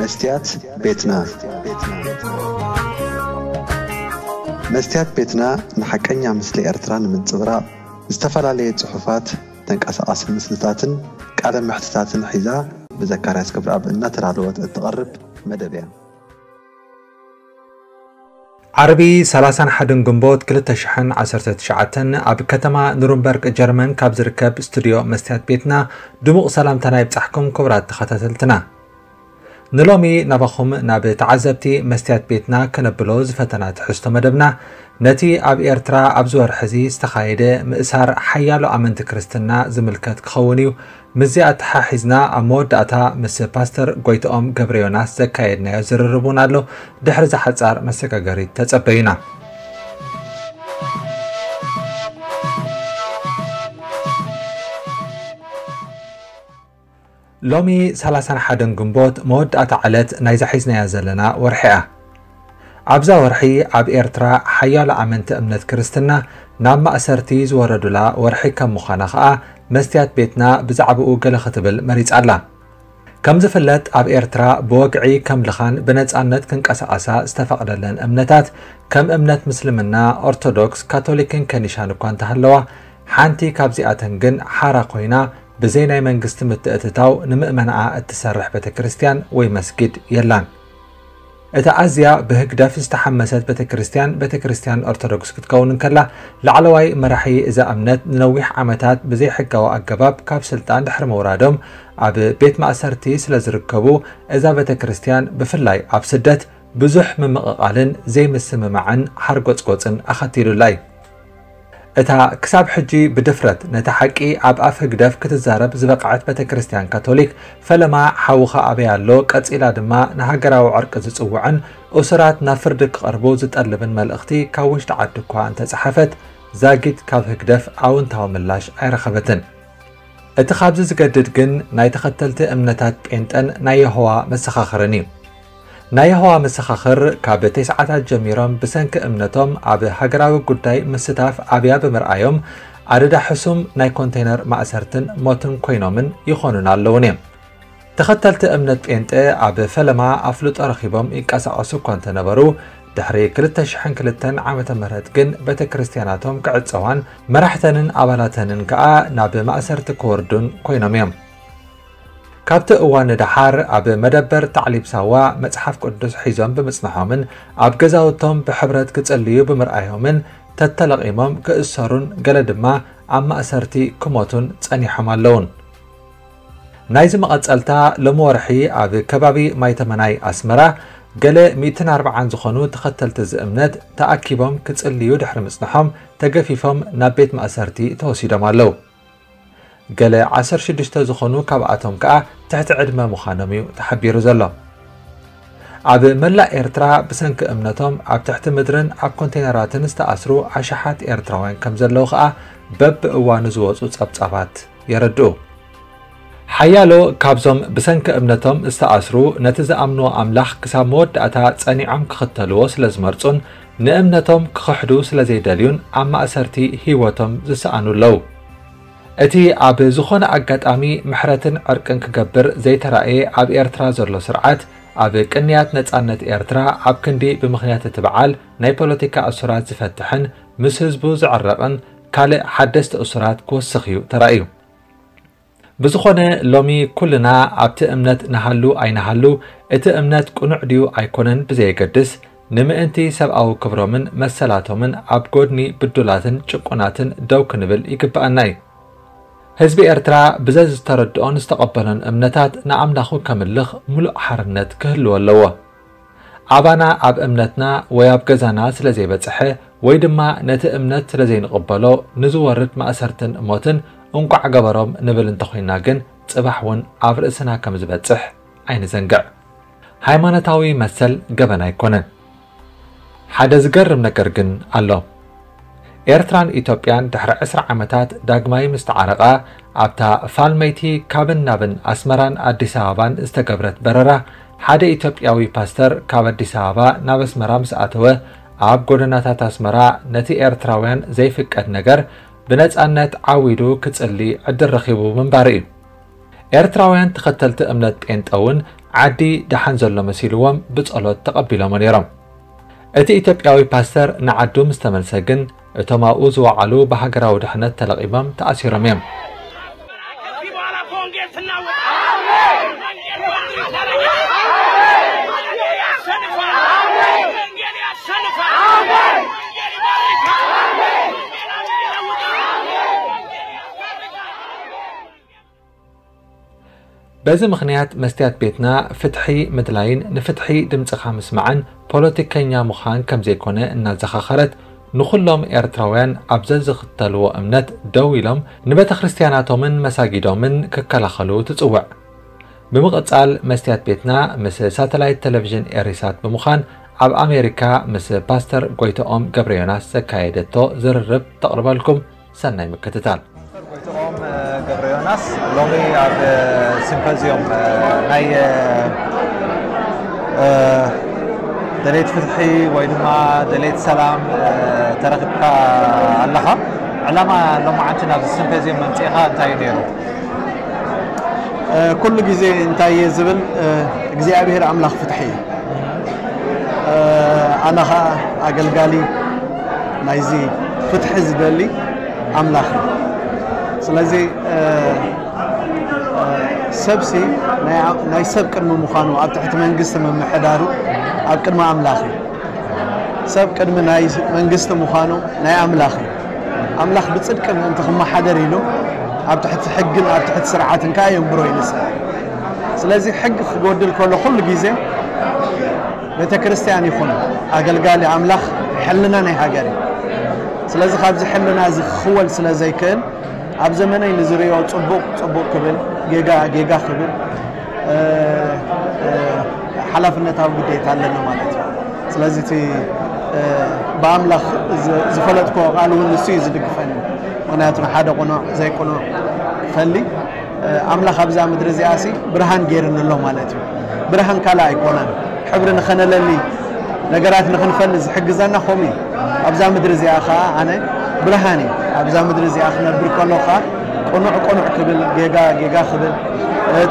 መስትያት ቤትና። መስትያት ቤትና ንሓቀኛ ምስሊ ኤርትራ ንምንጽብራቕ፣ ዝተፈላለየ ጽሑፋት፣ ተንቀሳቓሲ ምስልታትን ቃለ መሕትታትን ሒዛ ብዘካርያስ ክብረኣብ እናተዳለወት እትቐርብ መደብ እያ። ዓርቢ ሰላሳን ሓደን ግንቦት ክልተ ሽሕን ዓሰርተ ትሽዓተን ኣብ ከተማ ኑርንበርግ ጀርመን ካብ ዝርከብ ስቱድዮ መስትያት ቤትና ድሙቕ ሰላምታና ይብጻሕኩም ክቡራት ተኸታተልትና። ንሎሚ ናባኹም ናብ ተዓዘብቲ መስትያት ቤትና ከነብሎ ዝፈተና ትሕዝቶ መደብና ነቲ ኣብ ኤርትራ ኣብዚ ወርሒ እዚ ዝተኻየደ ምእሳር ሓያሎ ኣመንቲ ክርስትና ዝምልከት ክኸውን እዩ። ምስዚ ኣተሓሒዝና ኣብ መወዳእታ ምስ ፓስተር ጎይትኦም ገብረ ዮናስ ዘካየድናዮ ዝርርብ እውን ኣሎ። ድሕሪ እዛ ሓጻር መሰጋገሪት ተጸበዩና። ሎሚ ሰላሳን ሓደን ግንቦት መወዳእታ ዕለት ናይዛ ሒዝናያ ዘለና ወርሒ እያ። ኣብዛ ወርሒ ኣብ ኤርትራ ሓያሎ ኣመንቲ እምነት ክርስትና ናብ ማእሰርቲ ዝወረዱላ ወርሒ ከም ምዃና ኸኣ መስትያት ቤትና ብዛዕባኡ ገለ ክትብል መሪጻ ኣላ። ከም ዝፍለጥ ኣብ ኤርትራ ብወግዒ ከም ልኻን ብነጻነት ክንቀሳቐሳ ዝተፈቕደለን እምነታት ከም እምነት ምስልምና፣ ኦርቶዶክስ፣ ካቶሊክን ከኒሻን እኳ እንተሃለዋ ሓንቲ ካብዚኣተን ግን ሓራ ኮይና ብዘይ ናይ መንግስቲ ምትእትታው ንምእመናኣ እትሰርሕ ቤተ ክርስቲያን ወይ መስጊድ የላን። እታ ኣዝያ ብህግደፍ ዝተሓመሰት ቤተ ክርስቲያን ቤተ ክርስቲያን ኦርቶዶክስ ክትከውን እንከላ ላዕለዋይ መራሒ እዛ እምነት ንነዊሕ ዓመታት ብዘይ ሕጋዊ ኣገባብ ካብ ስልጣን ድሕሪ ምውራዶም ኣብ ቤት ማእሰርቲ ስለ ዝርከቡ እዛ ቤተ ክርስቲያን ብፍላይ ኣብ ስደት ብዙሕ ምምቕቓልን ዘይምስምማዕን ሓርጎጽጎጽን ኣኸቲሉላ እዩ። እታ ክሳብ ሕጂ ብድፍረት ነቲ ሓቂ ኣብ ኣፍ ህግደፍ ክትዛረብ ዝበቕዐት ቤተ ክርስቲያን ካቶሊክ ፈለማ ሓውኻ ኣበይ ኣሎ ቀጺላ ድማ ንሃገራዊ ዕርቂ ዝጽውዕን እሱራት ናብ ፍርዲ ክቐርቡ ዝጠልብን መልእኽቲ ካብ ውሽጢ ዓዲ እኳ እንተጸሓፈት ዛጊት ካብ ህግደፍ ኣውንታዊ ምላሽ ኣይረኸበትን። እቲ ካብዚ ዝገድድ ግን ናይ ተኸተልቲ እምነታት ጴንጠን ናይ የሆዋ መሰኻኽርን እዩ። ናይ የሆዋ መሰኻኽር ካብ ተስዓታት ጀሚሮም ብሰንኪ እምነቶም ኣብ ሃገራዊ ጉዳይ ምስታፍ ኣብያ ብምርኣዮም ኣደዳ ሕሱም ናይ ኮንቴነር ማእሰርትን ሞትን ኮይኖምን ይኾኑን ኣለውን እዮም። ተኸተልቲ እምነት ጴንጠ ኣብ ፈለማ ኣፍልጦ ረኺቦም ይንቀሳቐሱ እኳ እንተነበሩ ድሕሪ ክልተ ሽሕን ክልተን ዓመተ ምህረት ግን ቤተ ክርስቲያናቶም ክዕጸዋን መራሕተንን ኣባላተንን ከኣ ናብ ማእሰርቲ ክወርዱን ኮይኖም እዮም። ካብቲ እዋን ንደሓር ኣብ መደበር ታዕሊብ ሳዋ መጽሓፍ ቅዱስ ሒዞም ብምጽንሖምን ኣብ ገዛውቶም ብሕብረት ክጽልዩ ብምርኣዮምን ተተለቒሞም ክእሰሩን ገለ ድማ ኣብ ማእሰርቲ ክሞቱን ጸኒሖም ኣለውን። ናይዚ መቐጸልታ ሎሚ ወርሒ ኣብ ከባቢ ማይተመናይ ኣስመራ ገለ ሚእትን ኣርብዓን ዝኾኑ ተኸተልቲ እዚ እምነት ተኣኪቦም ክጽልዩ ድሕሪ ምጽንሖም ተገፊፎም ናብ ቤት ማእሰርቲ ተወሲዶም ኣለዉ። ገለ ዓሰርተ ሽዱሽተ ዝኾኑ ካብኣቶም ከኣ ትሕቲ ዕድመ ምዃኖም እዩ ተሓቢሩ ዘሎ። ኣብ መላእ ኤርትራ ብሰንኪ እምነቶም ኣብ ትሕቲ ምድርን ኣብ ኮንቴነራትን ዝተኣስሩ ኣሽሓት ኤርትራውያን ከም ዘለዉ ከኣ በብእዋኑ ዝወጹ ጸብጻባት የረድኡ። ሓያሎ ካብዞም ብሰንኪ እምነቶም ዝተኣስሩ ነቲ ዝኣምንዎ ኣምላኽ ክሳብ መወዳእታ ጸኒዖም ክኽተልዎ ስለ ዝመርጹን ንእምነቶም ክኽሕዱ ስለ ዘይደልዩን ኣብ ማእሰርቲ ህይወቶም ዝሰኣኑ ኣለዉ። እቲ ኣብ ዝኾነ ኣጋጣሚ ምሕረትን ዕርቅን ክገብር ዘይተራእየ ኣብ ኤርትራ ዘሎ ስርዓት ኣብ ቅንያት ነጻነት ኤርትራ ኣብ ክንዲ ብምኽንያት እቲ በዓል ናይ ፖለቲካ እሱራት ዝፈትሕን ምስ ህዝቡ ዝዕረቕን ካልእ ሓደስቲ እሱራት ክወስኽ እዩ ተራእዩ። ብዝኾነ ሎሚ ኩልና ኣብቲ እምነት ንሃሉ ኣይንሃሉ እቲ እምነት ቅኑዕ ድዩ ኣይኮነን ብዘየገድስ ንምእንቲ ሰብኣዊ ክብሮምን መሰላቶምን ኣብ ጎድኒ ብዱላትን ጭቁናትን ደው ክንብል ይግብኣና እዩ። ህዝቢ ኤርትራ ብዘዝተረድኦን ዝተቐበሎን እምነታት ንኣምላኹ ከምልኽ ሙሉእ ሓርነት ክህልዎ ኣለዎ። ኣባና ኣብ እምነትና ወይ ኣብ ገዛና ስለ ዘይበጽሐ ወይ ድማ ነቲ እምነት ስለ ዘይንቕበሎ ንዝወርድ ማእሰርትን ሞትን እንቋዕ ገበሮም ንብል እንተኾይና ግን ጽባሕ እውን ኣብ ርእስና ከም ዝበጽሕ ኣይንዘንግዕ። ሃይማኖታዊ መሰል ገበን ኣይኮነን። ሓደ ዝገርም ነገር ግን ኣሎ። ኤርትራን ኢትዮጵያን ድሕሪ ዕስራ ዓመታት ዳግማይ ምስ ተዓረቓ ኣብታ ፋልመይቲ ካብን ናብን ኣስመራን ኣዲስ ኣበባን ዝተገብረት በረራ ሓደ ኢትዮጵያዊ ፓስተር ካብ ኣዲስ ኣበባ ናብ ኣስመራ ምስ ኣተወ ኣብ ጎደናታት ኣስመራ ነቲ ኤርትራውያን ዘይፍቀድ ነገር ብነጻነት ዓው ኢሉ ክጽሊ ዕድል ረኺቡ ምንባሩ እዩ። ኤርትራውያን ተኸተልቲ እምነት ጴንጠ እውን ዓዲ ደሓን ዘሎ መሲልዎም ብጸሎት ተቐቢሎሞ ነይሮም። እቲ ኢትዮጵያዊ ፓስተር ንዓዱ ምስ ተመልሰ ግን እቶም ኣብኡ ዝወዓሉ ብሃገራዊ ድሕነት ተለቒሞም ተኣሲሮም እዮም። በዚ ምኽንያት መስትያት ቤትና ፍትሒ ምድላይን ንፍትሒ ድምጽኻ ምስማዕን ፖለቲከኛ ምዃን ከም ዘይኮነ እናዘኻኸረት፣ ንኹሎም ኤርትራውያን ኣብ ዘዝኽተልዎ እምነት ደው ኢሎም ንቤተ ክርስትያናቶምን መሳጊዶምን ክከላኸሉ ትጽውዕ። ብምቕጻል መስትያት ቤትና ምስ ሳተላይት ቴሌቪዥን ኤሪሳት ብምዃን ኣብ ኣሜሪካ ምስ ፓስተር ጎይተኦም ገብረ ዮናስ ዘካየደቶ ዝርርብ ተቕርበልኩም። ሰናይ ምክትታል። ፓስተር ጎይተኦም ገብረ ዮናስ ሎሚ ኣብ ሲምፖዚዮም ናይ ደሌት ፍትሒ ወይ ድማ ደሌት ሰላም ተረኺብካ ኣለኻ። ዕላማ ሎማዓንቲ ናብዚ ሲምፖዚዮም መምፅኢኻ እንታይ እዩ ነይሩ? ኩሉ ግዜ እንታይ እየ ዝብል እግዚኣብሔር ኣምላኽ ፍትሒ እዩ። ኣነ ኸዓ ኣገልጋሊ ናይዚ ፍትሒ ዝደሊ ኣምላኽ እዩ። ስለዚ ሰብሲ ናይ ሰብ ቅድሚ ምዃኑ ኣብ ትሕቲ መንግስቲ ምምሕዳሩ ኣብ ቅድሚ ኣምላኽ እዩ። ሰብ ቅድሚ ናይ መንግስቲ ምዃኑ ናይ ኣምላኽ እዩ። ኣምላኽ ብጽድቂ ምእንቲ ክመሓደር ኢሉ ኣብ ትሕቲ ሕግን ኣብ ትሕቲ ስርዓትን ከኣ የንብሮ እዩ ንሰብ። ስለዚ ሕጊ ክጎድል ከሎ ኩሉ ግዜ ቤተ ክርስቲያን ይኹን ኣገልጋሊ ኣምላኽ ሕልና ናይ ሃገር እዩ። ስለዚ ካብዚ ሕልና እዚ ክኽወል ስለ ዘይክእል ኣብ ዘመነይ ንዝርእዮ ጽቡቕ ጽቡቕ ክብል፣ ጌጋ ጌጋ ክብል ሓላፍነታዊ ግዴታ ኣለና ማለት እዩ። ስለዚ እቲ ብኣምላኽ ዝፈለጥኮ ቃል እውን ንሱ እዩ ዝድግፈኒ። ምክንያቱ ንሓደ ቁኑዕ ዘይቁኑዕ ፈሊ ኣምላኽ ኣብዛ ምድሪ እዚኣ ሲ ብርሃን ገይርኒ ኣሎ ማለት እዩ። ብርሃን ካልእ ኣይኮነን። ሕብሪ ንኸነለሊ ነገራት ንኽንፈሊ ዝሕግዘና ከምኡ እዩ። ኣብዛ ምድሪ እዚኣ ኸዓ ኣነ ብርሃን እዩ። ኣብዛ ምድሪ እዚኣ ክነብር ከሎ ኸዓ ቅኑዕ ቅኑዕ ክብል፣ ጌጋ ጌጋ ክብል፣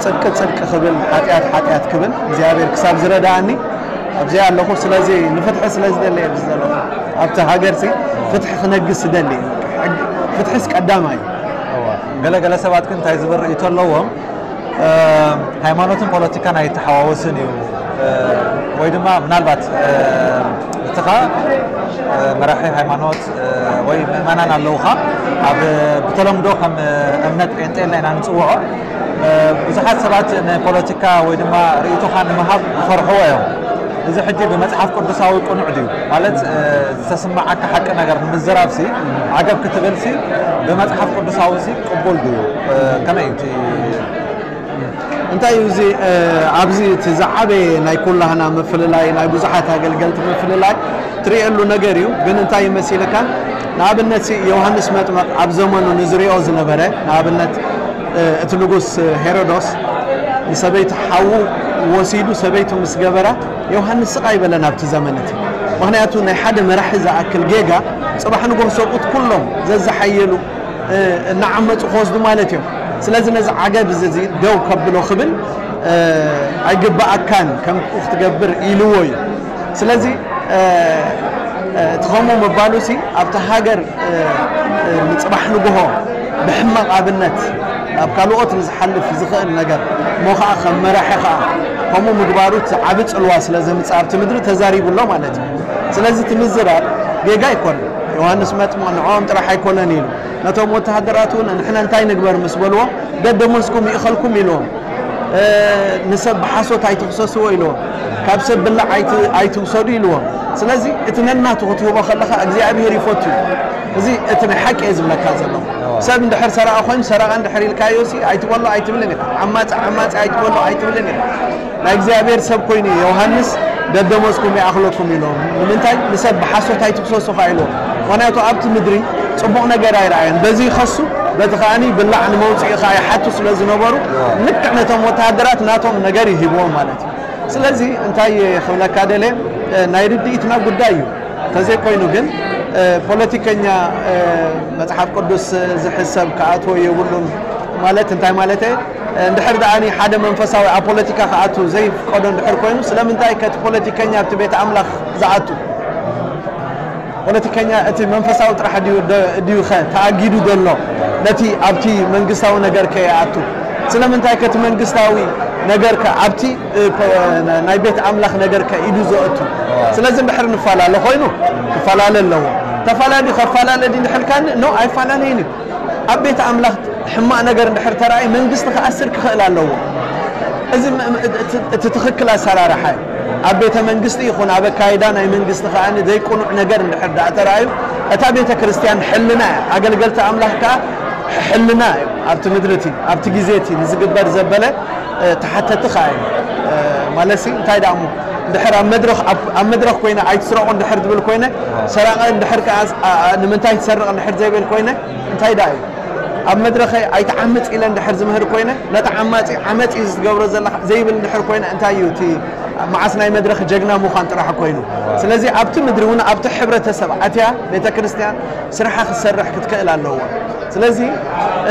ጽድቂ ጽድቂ ክብል፣ ሓጢኣት ሓጢኣት ክብል እግዚኣብሔር ክሳብ ዝረድኣኒ ኣብዚኣ ኣለኹ። ስለዚ ንፍትሒ ስለ ዝደሊ እየ ኣብዚ ዘለኹ። ኣብቲ ሃገርሲ ፍትሒ ክነግስ ዝደሊ እየ። ፍትሒስ ቀዳማይ እዩ። እዋ፣ ገለ ገለ ሰባት ግን እንታይ ዝብል ርእይቶ ኣለዎም? ሃይማኖትን ፖለቲካን ኣይተሓዋወስን እዩ ወይ ድማ ምናልባት ንስኻ መራሒ ሃይማኖት ወይ ምእመናን ኣለውኻ፣ ኣብ ብተለምዶ ከም እምነት ጴንጤ ኢልና ኢና ንፅውዖ። ብዙሓት ሰባት ንፖለቲካ ወይ ድማ ርእይቶኻ ንምሃብ ይፈርሕዎ እዮም። እዚ ሕጂ ብመፅሓፍ ቅዱሳዊ ቅኑዕ ድዩ ማለት ዝተስማዓካ ሓቂ ነገር ንምዝራብሲ ዓገብ ክትብልሲ ብመፅሓፍ ቅዱሳዊ ሲ ቅቡል ድዩ? ከመይ እዩ እቲ እንታይ እዩ እዚ ኣብዚ እቲ ዝዓበየ ናይ ኩላህና ምፍልላይ ናይ ብዙሓት ኣገልገልቲ ምፍልላይ ትርእየሉ ነገር እዩ። ግን እንታይ ይመሲልካ? ንኣብነት ሲ ዮሃንስ መጥመቕ ኣብ ዘመኑ ንዝሪኦ ዝነበረ ንኣብነት እቲ ንጉስ ሄሮዶስ ንሰበይቲ ሓዉ ወሲዱ ሰበይቱ ምስ ገበራ ዮሃንስ ስቕ ኣይበለን ኣብቲ ዘመን እቲ። ምኽንያቱ ናይ ሓደ መራሒ ዝኣክል ጌጋ ጽባሕ ንጎህ ሰብኡት ኩሎም ዘዝሓየሉ እናዓመፁ ክወስዱ ማለት እዮም። ስለዚ ነዚ ዓገብ እዚ ደው ከብሎ ክብል ኣይግባኣካን ከምኡ ክትገብር ኢልዎ እዩ። ስለዚ እቲ ከምኡ ምባሉ ሲ ኣብቲ ሃገር ንፅባሕ ንግሆ ብሕማቕ ኣብነት ናብ ካልኦት ንዝሓልፍ ዝኽእል ነገር እሞ ከዓ ከም መራሒ ከዓ ከምኡ ምግባሩ እቲ ዓቢ ፅልዋ ስለ ዘምፅእ ኣብቲ ምድሪ ተዛሪቡ ኣሎ ማለት እዩ። ስለዚ እቲ ምዝራብ ጌጋ ኣይኮነን። ዮሃንስ መጥምቕ ንዕኦም ጥራሕ ኣይኮነን ኢሉ ነቶም ወተሃደራት እውን ንሕና እንታይ ንግበር ምስ በልዎም ደደመስኩም ይእኸልኩም ኢልዎም። ንሰብ ብሓሶት ኣይትኽሰስዎ ኢልዎም። ካብ ሰብ ብላዕ ኣይትውሰዱ ኢልዎም። ስለዚ እቲ ነናቱ ክትህቦ ከለኻ እግዚኣብሄር ይፈቱ እዩ። እዚ እቲ ናይ ሓቂ እየ ዝብለካ ዘለኹ። ሰብ እንድሕር ሰራቒ ኮይኑ ሰራቒ እንድሕር ኢልካዮ ሲ ኣይትበሎ ኣይትብልን ኢኻ። ዓማጺ ዓማጺ ኣይትበሎ ኣይትብልን ኢኻ። ናይ እግዚኣብሔር ሰብ ኮይኑ ዮሃንስ ደደመስኩም ይኣኽለኩም ኢሎም። ንምንታይ ንሰብ ብሓሶት ኣይትክሰሱ ካ ኢሎም። ምክንያቱ ኣብቲ ምድሪ ጽቡቕ ነገር ኣይረኣየን። በዚ ይኸሱ በቲ ከኣኒ ብላዕ ንመውፅኢ ከኣ ይሓቱ ስለ ዝነበሩ ልክዕ ነቶም ወተሃደራት ናቶም ነገር ይሂብዎም ማለት እዩ። ስለዚ እንታይ ክብለካ ደልየ ናይ ርድኢትና ጉዳይ እዩ። ተዘይኮይኑ ግን ፖለቲከኛ መፅሓፍ ቅዱስ ዝሕሰብ ክኣትዎ የብሉን ማለት እንታይ ማለት እየ? እንድሕር ደኣኒ ሓደ መንፈሳዊ ኣብ ፖለቲካ ክኣቱ ዘይፍቀዶ እንድሕር ኮይኑ፣ ስለምንታይ ከቲ ፖለቲከኛ ኣብቲ ቤት ኣምላኽ ዝኣቱ? ፖለቲከኛ እቲ መንፈሳዊ ጥራሕ ድዩ፣ ደ-፣ ድዩ ኸ ተኣጊዱ ዘሎ ነቲ ኣብቲ መንግስታዊ ነገር ከይኣቱ? ስለምንታይ ከቲ መንግስታዊ ነገር ከ ኣብቲ፣ እ፣ ፖ-፣ ናይ ቤት ኣምላኽ ነገር ከ ኢዱ ዘእቱ? ስለዚ እንድሕር ንፈላለ ኮይኑ ክፈላለ ኣለዎ። ተፈላለ ከፈላለ ድዩ እንድሕር ኢልካኒ፣ ኖ፣ ኣይፈላለይን እዩ። ኣብ ቤት ኣምላኽ ሕማቕ ነገር እንድሕር ተራእዩ መንግስቲ ክኣስር ክኽእል ኣለዎ። እዚ ም-፣ ም-፣ እቲ፣ እቲ ትኽክል ኣሰራርሓ እዩ። ኣብ ቤተ መንግስቲ ይኹን ኣብ ኣካይዳ ናይ መንግስቲ ከኣ ዘይቅኑዕ ነገር እንድሕር ደኣ ተራእዩ እታ ቤተ ክርስቲያን ሕልና እያ። ኣገልገልቲ ኣምላኽ ከኣ ሕልና እዩ። ኣብቲ ምድሪ እቲ፣ ኣብቲ ግዜ እቲ ንዝግበር ዘበለ፣ እ፣ ተሓተቲ ከኣ እዩ። እ፣ ማለትሲ እንታይ ደኣ እሞ እንድሕር ኣብ መድረኽ፣ ኣብ፣ ኣብ መድረኽ ኮይነ ኣይትስረቑ እንድሕር ዝብል ኮይነ፣ ሰራቐ እንድሕር ከኣ፣ ኣ፣ ኣ፣ ንምንታይ ትሰርቕ እንድሕር ዘይብል ኮይነ፣ እንታይ ደኣ እዩ? ኣብ መድረኸይ ኣይትዓምጽ ኢለ እንድሕር ዝምህር ኮይነ፣ ነቲ ዓማጺ ዓመጽ እዩ ዝገብሮ ዘለኻ ዘይብል እንድሕር ኮይነ፣ እንታይ እዩ እቲ መዓስ ናይ መድረኽ ጀግና ምዃን ጥራሕ ኮይኑ? ስለዚ ኣብቲ ምድሪ እውን ኣብቲ ሕብረተሰብ ኣትያ ቤተ ክርስቲያን ስርሓ ክትሰርሕ ክትክእል ኣለዋ። ስለዚ፣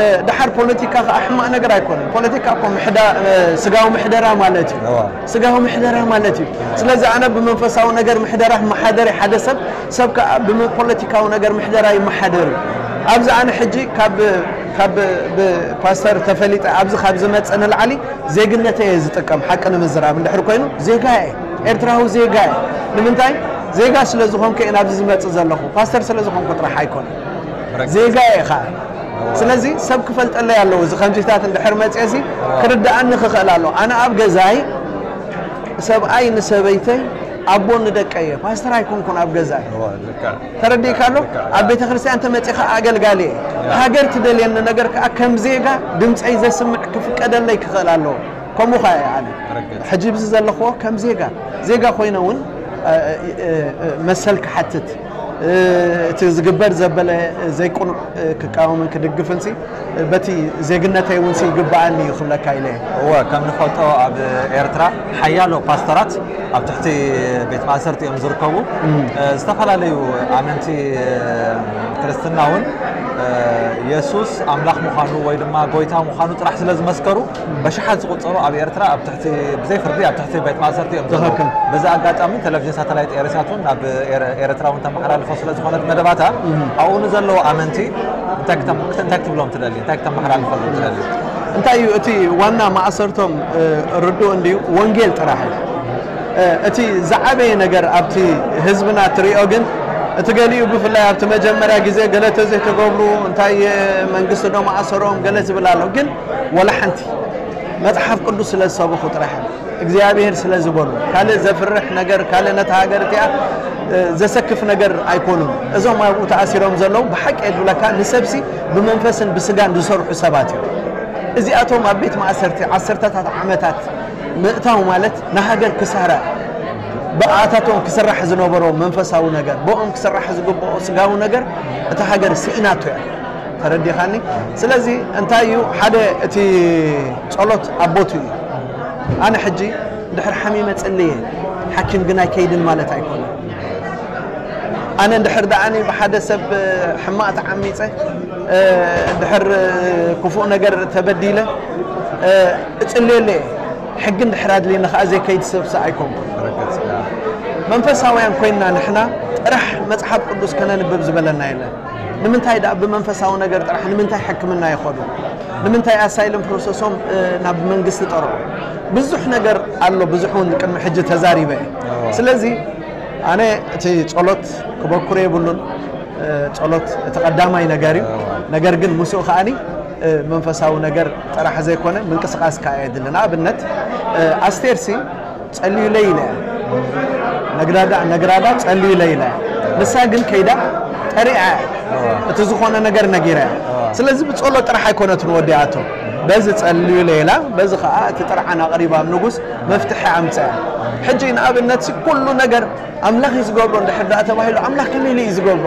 እ፣ ደሓር ፖለቲካ ከኣ ሕማቕ ነገር ኣይኮነን። ፖለቲካ እኮ ምሕዳ-፣ እ፣ ስጋዊ ምሕደራ ማለት እዩ። እዋ። ስጋዊ ምሕደራ ማለት እዩ። ስለዚ ኣነ ብመንፈሳዊ ነገር ምሕደራ ክመሓደር እዩ ሓደ ሰብ፣ ሰብ ከኣ ብፖለቲካዊ ነገር ምሕደራ ይመሓደር እዩ። ኣብዚ ኣነ ሕጂ ካብ፣ ካብ ብፓስተር ተፈሊጠ ኣብዚ ካብ ዝመጽእ ንላዕሊ ዜግነተይ እየ ዝጥቀም። ሓቂ ንምዝራብ እንድሕር ኮይኑ ዜጋ እየ፣ ኤርትራዊ ዜጋ እየ። ንምንታይ? ዜጋ ስለ ዝኾንኩ እየ ናብዚ ዝመጽእ ዘለኹ። ፓስተር ስለ ዝኾንኩ ጥራሕ ኣይኮነን። ዜጋ እየ ኸኣ። ስለዚ ሰብ ክፈልጠለይ ኣለዎ። እዚ ከምዚታት እንድሕር መጽኤሲ ክርድኣኒ ክኽእል ኣለዎ። ኣነ ኣብ ገዛይ ሰብኣይ ንሰበይተይ፣ ኣቦ ንደቀይ እየ። ፓስተር ኣይኮንኩን ኣብ ገዛይ። እዋ፣ ልክዕ። ተረዲእካ ኣሎ? ልክዕ። ኣብ ቤተ ክርስቲያን ተመጺኻ ኣገልጋሊ እየ። ያ። ሃገር ትደልየኒ ነገር ከኣ ከም ዜጋ ድምፀይ ዘስምዕ ክፍቀደለይ ክኽእል ኣለዎ። ከምኡ ኸኣ እየ ኣነ። ርግጽ። ሕጂ ብዚ ዘለኽዎ ከም ዜጋ፣ ዜጋ ኮይነ እውን፣ እ፣ እ፣ እ፣ መሰል ክሓትት፣ እ፣ እቲ ዝግበር ዘበለ ዘይቅኑዕ፣ እ፣ ክቃወምን ክድግፍን ሲ፣ በቲ ዜግነተይ እውን ሲ ይግብኣኒ እዩ ክብለካ ኢለ እየ። እወ፣ ከም ንፈልጦ ኣብ ኤርትራ ሓያሎ ፓስተራት ኣብ ትሕቲ ቤት ማእሰርቲ እዮም ዝርከቡ። እም። እ፣ ዝተፈላለዩ ኣመንቲ፣ እ፣ ክርስትና እውን፣ እ፣ የሱስ ኣምላኽ ምዃኑ ወይ ድማ ጎይታ ምዃኑ ጥራሕ ስለ ዝመስከሩ፣ በሽሓት ዝቑጸሩ ኣብ ኤርትራ ኣብ ትሕቲ፣ ብዘይ ፍርዲ ኣብ ትሕቲ ቤት ማእሰርቲ እዮም ዘለዉ። ትኽክል። በዚ ኣጋጣሚ ቴሌቪዥን ሳተላይት ኤሪሳት እውን ናብ ኤረ-፣ ኤርትራ እውን ተመሓላልፎ ስለ ዝኾነት መደባታ፣ እም። ኣብኡ ንዘለዉ ኣመንቲ እንታይ ክተ-፣ እንታይ ክትብሎም ትደሊ? እንታይ ክተመሓላልፈሎም ትደሊ? እንታይ እዩ እቲ ዋና ማእሰርቶም? እ፣ ርዱእ እንድዩ፣ ወንጌል ጥራሕ እዩ። እ፣ እቲ ዝዓበየ ነገር ኣብቲ ህዝብና እትሪኦ ግን፣ እቲ ገሊኡ ብፍላይ ኣብቲ መጀመርያ ግዜ ገለ ተዘይተገብሩ፣ እንታይ፣ እ፣ መንግስቲ ዶ ማእሰሮም ገለ ዝብል ኣሎ። ግን ወላ ሓንቲ መጽሓፍ ቅዱስ ስለ ዝሰበኹ ጥራሕ እዮም። እግዚኣብሔር ስለ ዝበሉ፣ ካልእ ዘፍርሕ ነገር፣ ካልእ ነታ ሃገር እቲኣ፣ እ፣ ዘሰክፍ ነገር ኣይኮኑን። እዞም ኣብኡ ተኣሲሮም ዘለዉ ብሓቂ እየ ዝብለካ ንሰብሲ ብመንፈስን ብስጋን ዝሰርሑ ሰባት እዮም። እዚኣቶም ኣብ ቤት ማእሰርቲ ዓሰርተታት ዓመታት ምእታው ማለት ንሃገር ክሳራ እዩ። ብኣታቶም ክስራሕ ዝነበሮ መንፈሳዊ ነገር፣ ብኦም ክስራሕ ዝግብኦ ስጋዊ ነገር እታ ሃገር ስኢናቶ እያ። ተረዲኻኒ? ስለዚ እንታይ እዩ ሓደ እቲ ጸሎት ኣብ ቦትኡ እዩ። ኣነ ሕጂ እንድሕር ሓሚመ ጽልየ፣ ሓኪም ግን ኣይከይድን ማለት ኣይኮነን። ኣነ እንድሕር ደኣኒ ብሓደ ሰብ ሕማቕ ተዓሚጸ፣ እ፣ እንድሕር ክፉእ ነገር ተበዲለ፣ እ፣ እጽልየለ እየ። ሕጊ እንድሕር ኣድልየኒ ከኣ ዘይከይድ ሰብሲ ኣይኮንኩን። ርግጽ፣ ያ። መንፈሳውያን ኮይንና ንሕና ጥራሕ መጽሓፍ ቅዱስ ከነንብብ ዝበለና የለን። ንምንታይ ደኣ ብመንፈሳዊ ነገር ጥራሕ ንምንታይ ሕክምና ይኸዱ? ንምንታይ ኣሳይለም ፕሮሰሶም፣ እ፣ ናብ መንግስቲ ጠርዑ? ብዙሕ ነገር ኣሎ፣ ብዙሕ እውን ቅድሚ ሕጂ ተዛሪበ እየ። እዎ። ስለዚ ኣነ እቲ ጸሎት ክበኩር የብሉን፣ እ፣ ጸሎት እቲ ቀዳማይ ነገር እዩ። እዎ። ነገር ግን ምስኡ ከኣኒ፣ እ፣ መንፈሳዊ ነገር ጥራሕ ዘይኮነ ምንቅስቃስ ከኣ የድሊ። ንኣብነት፣ እ፣ ኣስቴርሲ ጸልዩለይ ኢለ እያ። ነግራዳ፣ ነግራዳ ጸልዩለይ ኢለ እያ። ንሳ ግን ከይዳ ጠሪዓ እያ። እዋ። እቲ ዝኾነ ነገር ነጊራ እያ። እዋ። ስለዚ ብጸሎት ጥራሕ ኣይኮነትን ወዲኣቶ። በዚ ጸልዩለይ ኢላ፣ በዚ ኸኣ እቲ ጥርዓን ኣቕሪባ ኣብ ንጉስ መፍትሒ ኣምጽኣ። ሕጂ ንኣብነት ኩሉ ነገር ኣምላኽ እዩ ዝገብሮ እንድሕር ደኣ ተባሂሉ፣ ኣምላኽ ከመይ ኢሉ እዩ ዝገብሮ?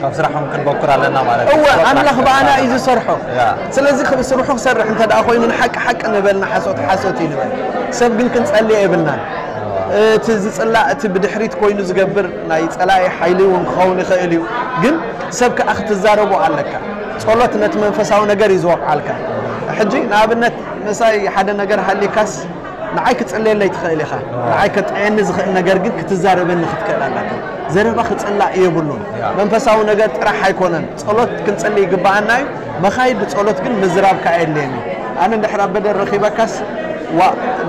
ካብ ስራሖም ክንበኩር ኣለና ማለት እዩ። እወ፣ ኣምላኽ ብኣና እዩ ዝሰርሖ። ያ። ስለዚ ስርሑ ክሰርሕ እንተ ደኣ ኮይኑ ንሓቂ ሓቂ ንበል፣ ንሓሶት ሓሶት እዩ ንበል። ሰብ ግን ክንጸልዮ የብልናን። እቲ ዝጽላእ፣ እቲ ብድሕሪት ኮይኑ ዝገብር ናይ ጸላኢ ሓይሊ እውን ክኸውን ይኽእል እዩ። ግን ሰብ ከኣ ክትዛረቦ ኣለካ። ጸሎት ነቲ መንፈሳዊ ነገር እዩ ዝወቕዓልካ። ሕጂ ንኣብነት ምሳይ ሓደ ነገር ሃሊካስ ንዓይ ክጽለየለይ ትኽእል ኢኻ። ንዓይ ከጥዕየኒ ዝኽእል ነገር ግን ክትዛረበኒ ክትክእል ኣለካ። ዘረባ ክጽላእ የብሉን። መንፈሳዊ ነገር ጥራሕ ኣይኮነን። ጸሎት ክንጽሊ ይግባኣና እዩ። መኻይድ ጸሎት ግን ምዝራብ ከኣ የድልየኒ። ኣነ እንድሕር ኣብ በደል ረኺበካስ፣ ዋ፣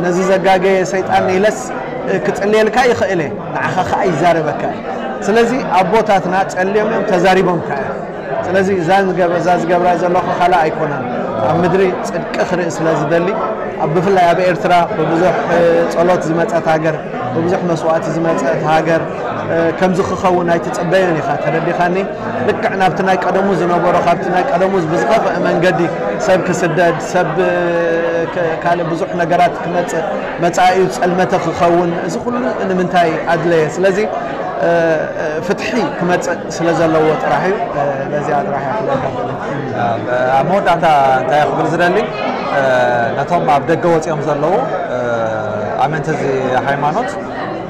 ነዚ ዘጋገየ ሰይጣን ኢለስ ክጽልየልካ ይኽእል እየ። ንዓኻ ከኣ ይዛረበካ እዩ። ስለዚ ኣቦታትና ጸልዮም እዮም፣ ተዛሪቦም ከኣ እዮም። ስለዚ እዛ ዝገብ-፣ እዛ ዝገብራ ዘለኹ ካልእ ኣይኮነን። ኣብ ምድሪ ጽድቂ ክርኢ ስለ ዝደሊ፣ ኣብ፣ ብፍላይ ኣብ ኤርትራ ብብዙሕ፣ እ፣ ጸሎት ዝመጸት ሃገር፣ ብብዙሕ መስዋእቲ ዝመጸት ሃገር፣ እ፣ ከምዚ ክኸውን ኣይትጽበዮን ኢኻ። ተረዲኻኒ? ልክዕ ናብቲ ናይ ቀደሙ ዝነበሮ፣ ካብቲ ናይ ቀደሙ ብዝኸፍአ መንገዲ ሰብ ክስደድ፣ ሰብ፣ እ፣ ክ-፣ ካልእ ብዙሕ ነገራት ክመጽእ፣ መጻኢኡ ጸልመተ ክኸውን፣ እዚ ኩሉ ንምንታይ ኣድለየ? ስለዚ፣ እ፣ እ፣ ፍትሒ ክመጽእ ስለ ዘለዎ ጥራሕ እዩ። እ፣ በዚኣ ጥራሕ እያ ክብለካ። ኣብ መወዳእታ እንታይ ክብል ዝደሊ፣ እ፣ ነቶም ኣብ ደገ ወጺኦም ዘለዉ፣ እ፣ ኣመንቲ እዚ ሃይማኖት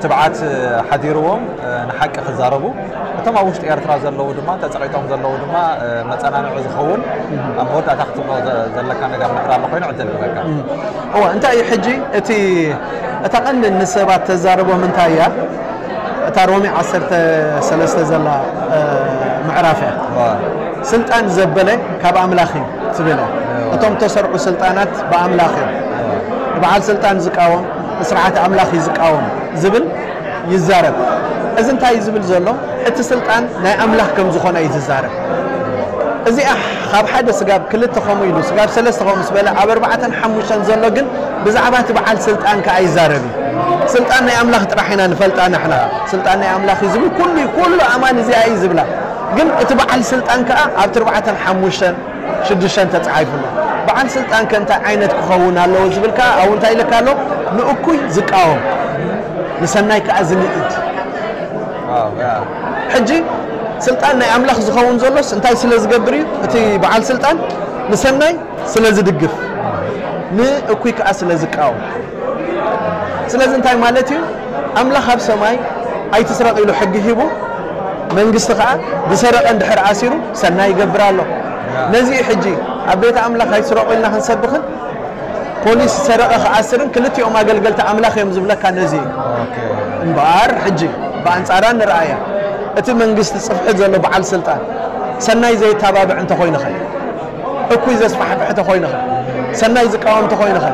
ትብዓት ሓዲርዎም፣ እ፣ ንሓቂ ክዛረቡ፣ እቶም ኣብ ውሽጢ ኤርትራ ዘለዉ ድማ፣ ተጸቒጦም ዘለዉ ድማ፣ እ፣ መጸናንዒ ዝኸውን ኣብ መወዳእታ ክትብሎ ዘ-፣ ዘለካ ነገር ምሕር ኣሎ ኮይኑ ዕድል ንበካ። እም። እወ፣ እንታይ እዩ ሕጂ እቲ፣ እታ ቀንዲ ንሰባት ተዛርቦም እንታይ እያ? እታ ሮሜ ዓሰርተ ሰለስተ ዘላ፣ እ፣ ምዕራፍ እያ። እወ። ስልጣን ዘበለ ካብ ኣምላኽ እዩ ትብል እያ። እቶም እተሰርዑ ስልጣናት ብኣምላኽ እዮም። በዓል ስልጣን ዝቃወም፣ ስርዓት ኣምላኽ እዩ ዝቃወም ዝብል ይዛረብ። እዚ እንታይ እዩ ዝብል ዘሎ? እቲ ስልጣን ናይ ኣምላኽ ከም ዝኾነ እዩ ዝዛረብ። እዚኣ ካብ ሓደ ስጋብ ክልተ ከምኡ ኢሉ፣ ስጋብ ሰለስተ ከምኡ ምስ በለ፣ ኣብ ኣርባዕተን ሓሙሽተን ዘሎ ግን ብዛዕባ እቲ በዓል ስልጣን ከኣ ይዛረብ እዩ። ስልጣን ናይ ኣምላኽ ጥራሕ ኢና ንፈልጣ ንሕና። ስልጣን ናይ ኣምላኽ እዩ ዝብል ኩሉ እዩ፣ ኩሉ ኣማኒ እዚኣ እዩ ዝብላ። ግን እቲ በዓል ስልጣን ከኣ ኣብቲ ኣርባዕተን ሓሙሽተን ሽዱሽተን ተጻሒፉ ኣሎ። በዓል ስልጣን ከ እንታይ ዓይነት ክኸውን ኣለዎ ዝብል ከኣ ኣብኡ እንታይ ኢለካ ኣሎ? ንእኩይ ዝቃወም፣ ንሰናይ ከኣ ዝንእድ። ዋው፣ ያ። ሕጂ ስልጣን ናይ ኣምላኽ ዝኸውን ዘሎስ እንታይ ስለ ዝገብር እዩ? እቲ በዓል ስልጣን ንሰናይ ስለ ዝድግፍ፣ ንእኩይ ከኣ ስለ ዝቃወም። ስለዚ እንታይ ማለት እዩ? ኣምላኽ ኣብ ሰማይ ኣይትስረቕ ኢሉ ሕጊ ሂቡ፣ መንግስቲ ከኣ ዝሰረቐ እንድሕር ኣሲሩ ሰናይ ይገብር ኣሎ። ነዚ እዩ ሕጂ ኣብ ቤት ኣምላኽ ኣይትስረቑ ኢልና ክንሰብኽን ፖሊስ ዝሰረቐ ክኣስርን ክልቲኦም ኣገልገልቲ ኣምላኽ እዮም ዝብለካ ነዚ እዩ። ኦኬ። እምበኣር ሕጂ ብኣንጻራ ንርኣያ። እቲ መንግስቲ ጽፍሒ ዘሎ በዓል ስልጣን ሰናይ ዘየተባብዕ እንተኾይንኸ? እኩይ ዘስፋሕፍሕ ተኾይንኸ? ሰናይ ዝቃወም ተኾይንኸ?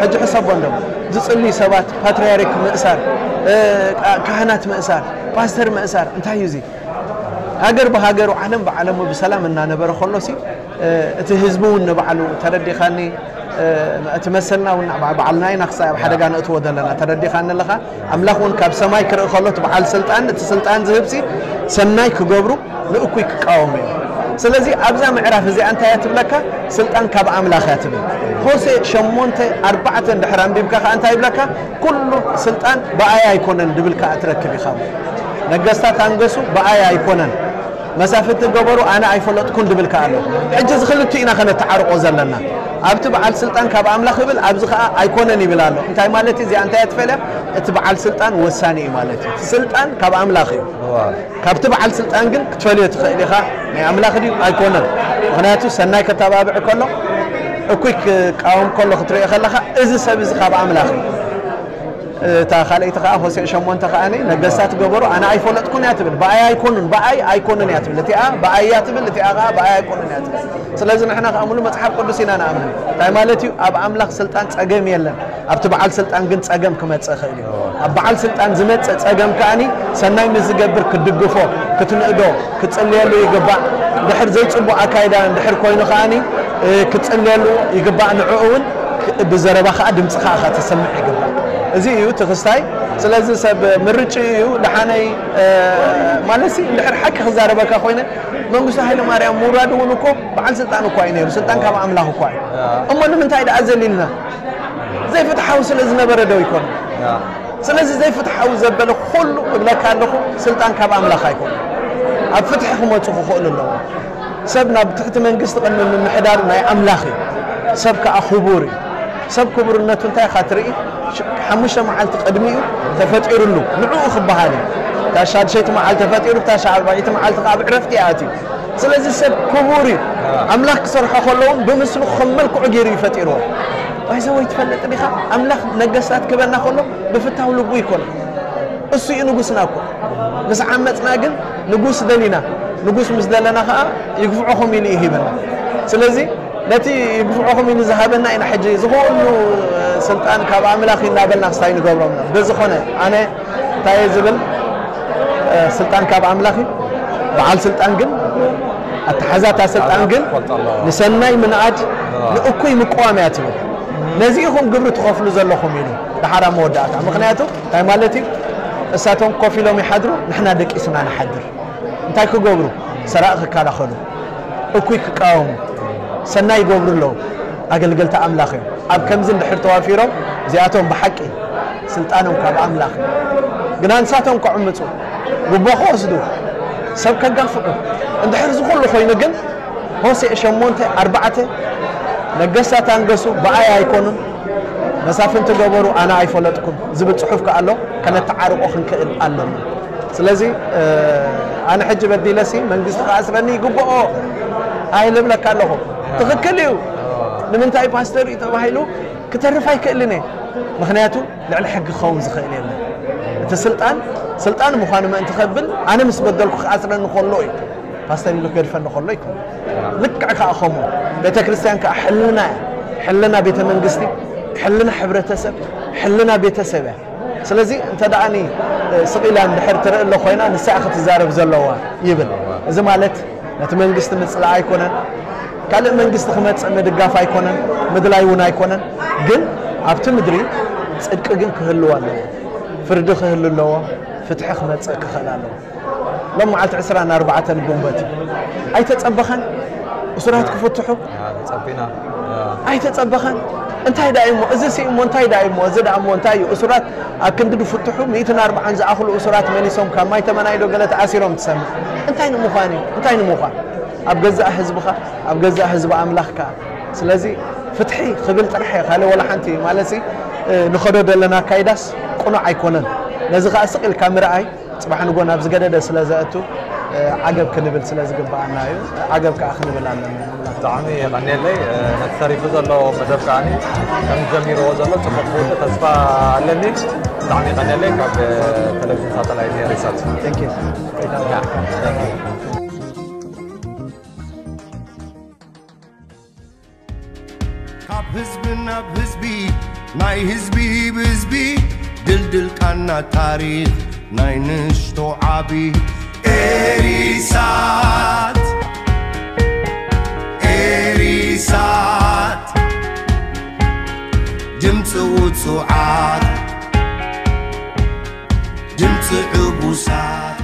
ሕጂ ሕሰቦ እንዶ፣ ዝጽልዩ ሰባት ፓትርያርክ ምእሳር፣ እ፣ ካ-፣ ካህናት ምእሳር፣ ፓስተር ምእሳር፣ እንታይ እዩ እዚ? ሃገር ብሃገሩ፣ ዓለም ብዓለሙ ብሰላም እናነበረ ከሎሲ፣ እ፣ እቲ ህዝቢ እውን ንባዕሉ ተረዲኻኒ፣ እ፣ እቲ መሰልና እውን ንዕ-፣ ባዕልና ኢና ክሳብ ኣብ ሓደጋ ነእትዎ ዘለና። ተረዲኻኒ ኣለኻ? ኣምላኽ እውን ካብ ሰማይ ክርኢ ከሎ እቲ በዓል ስልጣን፣ እቲ ስልጣን ዝህብሲ ሰናይ ክገብሩ ንእኩይ ክቃወሙ እዮም። ስለዚ ኣብዛ ምዕራፍ እዚኣ እንታይ እያ ትብለካ? ስልጣን ካብ ኣምላኽ እያ ትብል። ሆሴ ሸሞንተ ኣርባዕተ እንድሕር ኣንቢብካ ከኣ እንታይ ይብለካ? ኩሉ ስልጣን ብኣይ ኣይኮነን ድብል ከኣ ትረክብ ኢኻ። ነገስታት ኣንገሱ ብኣይ ኣይኮነን፣ መሳፍንቲ ገበሩ ኣነ ኣይፈለጥኩን ድብል ከኣ ኣሎ። ሕጂ እዚ ክልቲኡ ኢና ከነተዓርቆ ዘለና። ኣብቲ በዓል ስልጣን ካብ ኣምላኽ ይብል፣ ኣብዚ ከኣ ኣይኮነን ይብል ኣሎ። እንታይ ማለት እዩ? እዚኣ እንታይ እያ ትፈልያ? እቲ በዓል ስልጣን ወሳኒ እዩ ማለት እዩ። እቲ ስልጣን ካብ ኣምላኽ እዩ። እዋ። ካብቲ በዓል ስልጣን ግን ክትፈልዮ ትኽእል ኢኻ፣ ናይ ኣምላኽ ድዩ ኣይኮነን። ምኽንያቱ ሰናይ ከተባብዕ ከሎ፣ እኩይ ክቃወም ከሎ ክትርኢ ከለኻ፣ እዚ ሰብ እዚ ካብ ኣምላኽ እዩ። እታ ካልኣይቲ ከኣ፣ ሆሴዕ ሸሞንተ ከኣ፣ ነገስታት ገበሩ ኣነ ኣይፈለጥኩን እያ ትብል። ብኣይ ኣይኮኑን፣ ብኣይ ኣይኮኑን እያ ትብል። እቲኣ ብኣይ እያ ትብል፣ እቲኣ ከኣ ብኣይ ኣይኮኑን እያ ትብል። ስለዚ ንሕና ከኣ ሙሉ መጽሓፍ ቅዱስ ኢና ንኣምን። እንታይ ማለት እዩ? ኣብ ኣምላኽ ስልጣን ጸገም የለን። ኣብቲ በዓል ስልጣን ግን ጸገም ክመጽእ ይኽእል እዩ። ኣብ በዓል ስልጣን ዝመጽእ ጸገም ከኣኒ ሰናይ ምስ ዝገብር ክትድግፎ፣ ክትንእዶ፣ ክትጽልየሉ ይግባእ። እንድሕር ዘይጽቡቕ ኣካይዳ እንድሕር ኮይኑ ከኣኒ፣ እ፣ ክትጽልየሉ ይግባእ። ንዕኡ እውን ክ-፣ ብዘረባ ከኣ ድምጺ ከኣ ከተሰምዕ ይግባእ። እዚ እዩ እቲ ክስታይ። ስለዚ ሰብ ምርጭኡ እዩ። ደሓነይ፣ እ፣ ማለትሲ እንድሕር ሓቂ ክዛረበካ ኮይነ መንግስቱ ሃይለ ማርያም ምውራዱ እውን እኮ በዓል ስልጣን እኳ እዩ ነይሩ። ስልጣን ካብ ኣምላኽ እኳ እዩ። እሞ ንምንታይ ደኣ ዘሊልና? ዘይፍትሓዊ ስለ ዝነበረ ዶ ይኮን? ያ። ስለዚ ዘይፍትሓዊ ዘበለ ኩሉ እብለካ ኣለኹ፣ ስልጣን ካብ ኣምላኽ ኣይኮነን። ኣብ ፍትሒ ክመጹ ክኽእሉ ኣለዎም። ሰብ ናብ ትሕቲ መንግስቲ ቅድሚ ምምሕዳር ናይ ኣምላኽ እዩ። ሰብ ከኣ ክቡር እዩ። ሰብ ክቡርነቱ እንታይ ኢኻ ትርኢ? ሽ-፣ ሓሙሽተ መዓልቲ ቅድሚኡ ተፈጢሩሉ፣ ንዕኡ ክበሃል እዩ። እታ ሻድሸይቲ መዓልቲ ተፈጢሩ፣ እታ ሻብዓይቲ መዓልቲ ከኣ ብዕረፍቲ ይኣትዩ። ስለዚ ሰብ ክቡር እዩ። ኣምላኽ ክሰርሖ ከለውን ብምስሉ ከም መልክዑ ገይሩ እዩ ፈጢርዎ። ባይዘወይ ትፈልጥ ዲኻ? ኣምላኽ ነገስታት ክበና ከሎ ብፍታው ልቡ ይኮነ። እሱ እዩ ንጉስና እኮ። ምስ ዓመፅና ግን ንጉስ ደሊና። ንጉስ ምስ ደለና ከዓ ይግፍዖኹም ኢሉ እዩ ሂበና። ስለዚ ነቲ ይግፍዖኹም ኢሉ ዝሃበና ኢና ሕጂ ዝኹሉ ስልጣን ካብ ኣምላኽ እዩ እናበልና ክስታይ ንገብሮም ኢና። በዝኾነ ኣነ እንታይ እየ ዝብል? ስልጣን ካብ ኣምላኽ እዩ። በዓል ስልጣን ግን ኣተሓዛታ ስልጣን ግን ንሰናይ ምንኣድ ንእኩይ ምቅዋም እያ ትብል። ነዚ ኢኹም ግብሪ ትኸፍሉ ዘለኹም ኢሉ ድሓር ኣብ መወዳእታ። ምኽንያቱ እንታይ ማለት እዩ? እሳቶም ኮፍ ኢሎም ይሓድሩ፣ ንሕና ደቂስና ንሓድር። እንታይ ክገብሩ? ሰራቂ ክከላኸሉ፣ እኩይ ክቃወሙ፣ ሰናይ ይገብሩ ኣለዉ። ኣገልገልቲ ኣምላኽ እዮም። ኣብ ከምዚ እንድሕር ተዋፊሮም እዚኣቶም ብሓቂ ስልጣኖም ካብ ኣምላኽ እዩ። ግና ንሳቶም ከዕምፁ፣ ጉቦ ክወስዱ፣ ሰብ ከጋፍዑ፣ እንድሕር እዚ ኩሉ ኮይኑ ግን ሆሴዕ ሸሞንተ ኣርባዕተ ነገስታት ኣንገሱ ብኣይ ኣይኮኑን መሳፍንቲ ገበሩ ኣነ ኣይፈለጥኩም ዝብል ፅሑፍ ከኣ ኣሎ። ከነተዓርቆ ክንክእል ኣለና። ስለዚ ኣነ ሕጂ በዲለሲ መንግስቲ ክኣስረኒ ይግብኦ ኣይልብለካ ኣለኹ። ትኽክል እዩ። ንምንታይ ፓስተር እዩ ተባሂሉ ክተርፍ ኣይክእልን እየ። ምኽንያቱ ልዕሊ ሕጊ ክኸውን ዝኽእል የለን። እቲ ስልጣን ስልጣን ምዃኑ ምእንቲ ከብል ኣነ ምስ በደልኩ ክኣስረኒ ከሎ እዩ። ፓስተር ኢሉ ክገድፈኒ ከሎ ይኮን። ልክዕ ከዓ ከምኡ ቤተ ክርስቲያን ከዓ ሕልና እያ። ሕልና ቤተ መንግስቲ፣ ሕልና ሕብረተሰብ፣ ሕልና ቤተሰብ እያ። ስለዚ እንተ ደኣኒ ስቕ ኢላ እንድሕር ትርኢ ኣሎ ኮይና ንሳ ክትዛረብ ዘለዋ ይብል። እዚ ማለት ነቲ መንግስቲ ምፅላእ ኣይኮነን፣ ካልእ መንግስቲ ክመፅእ ምድጋፍ ኣይኮነን፣ ምድላይ እውን ኣይኮነን። ግን ኣብቲ ምድሪ ፅድቂ ግን ክህልው ኣለዎ፣ ፍርዲ ክህሉ ኣለዎ፣ ፍትሒ ክመፅእ ክኽእል ኣለዎ። ሎም መዓልቲ ዕስራን ኣርባዕተን ግንቦት ኣይተፀበኸን እሱራት ክፍትሑ ጸቢና ኣይተጸበኸን። እንታይ ደኣ እሞ እዚ ሲ እሞ እንታይ ደኣ እሞ እዚ ደኣ እሞ እንታይ እዩ? እሱራት ኣብ ክንዲ ድፍትሑ ሚእትን ኣርባዓን ዝኣኽሉ እሱራት መሊሶም ካብ ማይ ተመናይዶ ገለ ተኣሲሮም ትሰምዕ። እንታይ ንምዃን እዩ? እንታይ ንምዃን? ኣብ ገዛእ ህዝብኻ ኣብ ገዛእ ህዝቢ ኣምላኽካ። ስለዚ ፍትሒ ክብል ጥራሕ እየ ካልእ ወላ ሓንቲ ማለት ሲ ንኸዶ ዘለና ኣካይዳስ ቅኑዕ ኣይኮነን። ነዚ ከኣ ስቕ ኢልካ ምርኣይ ጽባሕ ንጎ ናብ ዝገደደ ስለ ዘእቱ ዓገብ ክንብል ስለ ዝግብኣና እዩ። ዓገብ ከኣ ክንብል ኣለና። ብጣዕሚ የቐንየለይ። ነቲ ተሪፉ ዘሎ መደብ ከዓኒ ከም ጀሚርዎ ዘሎ ጽቡቕ ክውድእ ተስፋ ኣለኒ። ብጣዕሚ የቐንየለይ። ካብ ቴሌቪዥን ሳተላይት ኤሪሳት። Thank you። ካብ ህዝቢ ናብ ህዝቢ ናይ ህዝቢ ብህዝቢ ድልድል ቃና ታሪኽ ናይ ንሽቶ ዓቢ ኤሪሳት ኤሪሳት ድምፂ ውፁዓት ድምፂ ዕቡሳት